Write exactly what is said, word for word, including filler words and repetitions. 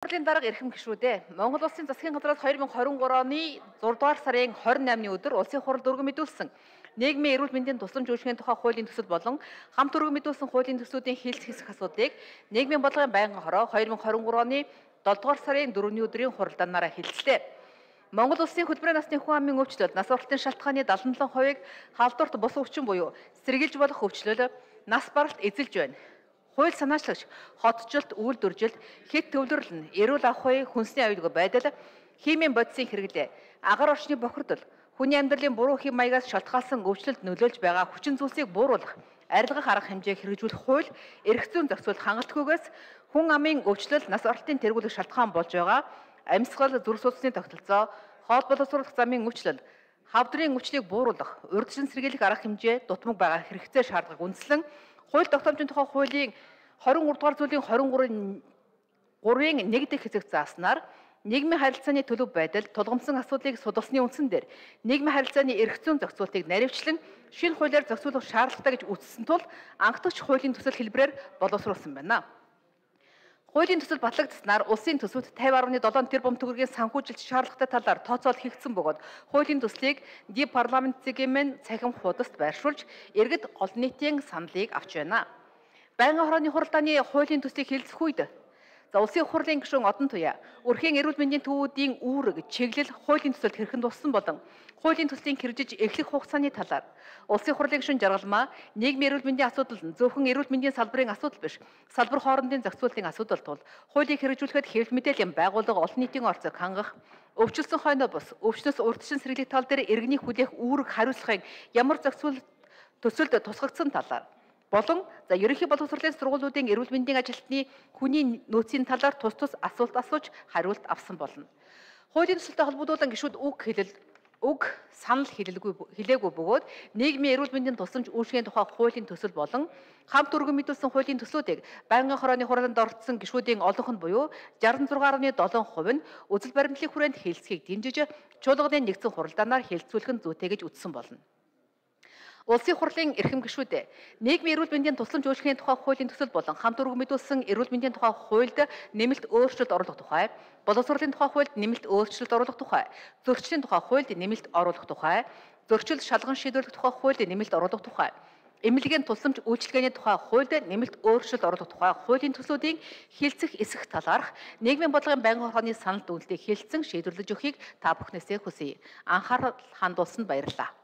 Хурлын дарга эрхэм гишүүдээ Монгол Улсын засгийн газраас хоёр мың хорин гурав оны зургаадугаар сарын хорин наймны өдөр улсын хурал дөрвөн мэдүүлсэн нийгмийн эрүүл мэндийн тусламж үйлчилгээний тухай хуулийн төсөл болон хамт дөрвөн мэдүүлсэн хуулийн төслүүдийн хэлц хэсэх асуудлыг нийгмийн бодлогын байнгын хороо хоёр мың хорин гурав оны долдугаар сарын дөрөвний өдрийн хуралдаанаараа хэлцлээ. Монгол Улсын хөдөлмөрийн насны хүн амын өвчлөл нас баралтын шалтгааны дадлан долоо хувийг халдварт бус өвчин буюу сэргийлж болох өвчлөл нас баралт эзэлж байна. Хууль санаачлагч, хотчлт, үйлдвэржилт, хэд төвлөрөл нь эрүүл ахуй, хүнсний аюулгүй байдал, химийн бодисын хэрэглээ, агаар орчны бохирдол, хүний амьдралын буруу хэм маягаас шалтгаалсан өвчлөлд нөлөөлж байгаа хүчин зүйлсийг бууруулах, арилгах арга хэмжээг хэрэгжүүлэх хууль, эрх зүйн зохицуул хангалтгүйгээс хүн амын өвчлөл нас оролтын тэргүүлэх шалтгаан болж байгаа амьсгал, зүрх судасны тогтолцоо, хоол боловсруулах замын өвчлөл, хавдрын өвчлийг бууруулах, урьдчилан сэргийлэх арга хэмжээ дутмаг байгаа хэрэгцээ шаардлагыг үндэслэн хууль тогтоомжийн тухай хуулийн хорин гурав дугаар зүйлийн хорин гурвын нэг дэх хэсэг зааснаар нийгмийн харилцааны төлөв байдал тулгамдсан асуудлыг судалсны үндсэн дээр нийгмийн харилцааны эрх зүйн зохицуултыг наривчлан шинэ хуулиар зохицуулах шаардлагатай гэж үзсэн тул анхдагч хуулийн төсөл хэлбэрээр боловсруулсан байна. Хуулийн төсөл батлагдсанаар улсын төсөвт тавь гаруй долоо тэрбум төгрөгийн санхүүжилт шаардлагатай талаар тооцоол хийгдсэн бөгөөд хуулийн төслийг ди парламент цэгийн цахим хуудаст байршуулж иргэд олон нийтийн саналыг авч байна. Байнгын хорооны хуралдааны хуулийн төслийг хэлцэх үед за улсын хурлын гишүүн Одон Туяа өрхийн эрүүл мэндийн төвүүдийн үүрэг, чиглэл хуулийн төсөлд хэрхэн туссан болон хуулийн төслийн хэрэгжиж эхлэх хугацааны талаар улсын хурлын гишүүн Жаргалмаа нийгмийн эрүүл мэндийн асуудал нь зөвхөн эрүүл мэндийн салбарын асуудал биш, салбар хоорондын зохицуулалтын асуудал тул хуулийг хэрэгжүүлэхэд хэвлэл мэдээллийн байгууллага олон нийтийн орцыг хангах, өвчлөсөн хойноо бус, өвчнөөс урьдчилан сэргийлэх тал дээр иргэний хүлээх үүрэг хариуцлагыг ямар зохицуул төсөлд тусгагдсан талаар болон за ерөнхий боловсролын сургуулиудын эрүүл мэндийн ажилтны хүний нөөцийн талаар тус тус асуулт асууж хариулт авсан болно. Хуулийн төсөлтэй холбогдуулан гишүүд үг хэлэл үг санал хэлэлгүй хэлээгүй бөгөөд нийгмийн эрүүл мэндийн тусламж үйлчилгээний тухай хуулийн төсөл болон хамт дөрвөн мэдүүлсэн хуулийн төслүүдийг байнгын хорооны хуралд оролцсон гишүүдийн олонх нь буюу шестдесет и шесть дөрвөн хувь нь үзэл баримтлалын хүрээнд хэлцгийг дэмжиж чуулганы нэгдсэн хуралдаанаар хэлцүүлэх нь зүйтэй гэж үзсэн болно. Улсын хурлын эрхэм гишүүдээ нийгмийн эрүүл мэндийн тусламж үйлчилгээний тухай хуулийн төсөл болон хамт дөрвөн мэдүүлсэн эрүүл мэндийн тухай хуульд нэмэлт өөрчлөлт оруулах тухай, боловсролын тухай хуульд нэмэлт өөрчлөлт оруулах тухай, зөрчлийн тухай хуульд нэмэлт оруулах тухай, зөрчил шалган шийдвэрлэх тухай хуульд нэмэлт оруулах тухай, эмнэлгийн тусламж үйлчилгээний тухай хуульд нэмэлт өөрчлөлт оруулах тухай хуулийн төслүүдийн хэлцэх эсэх талаарх нийгмийн бодлогын байнгын хорооны санал дүгнэлтийг хэлцэн шийдвэрлэж өгөхийг та бүхнээсээ хүсье. Анхаарал хандуулсанд баярлалаа.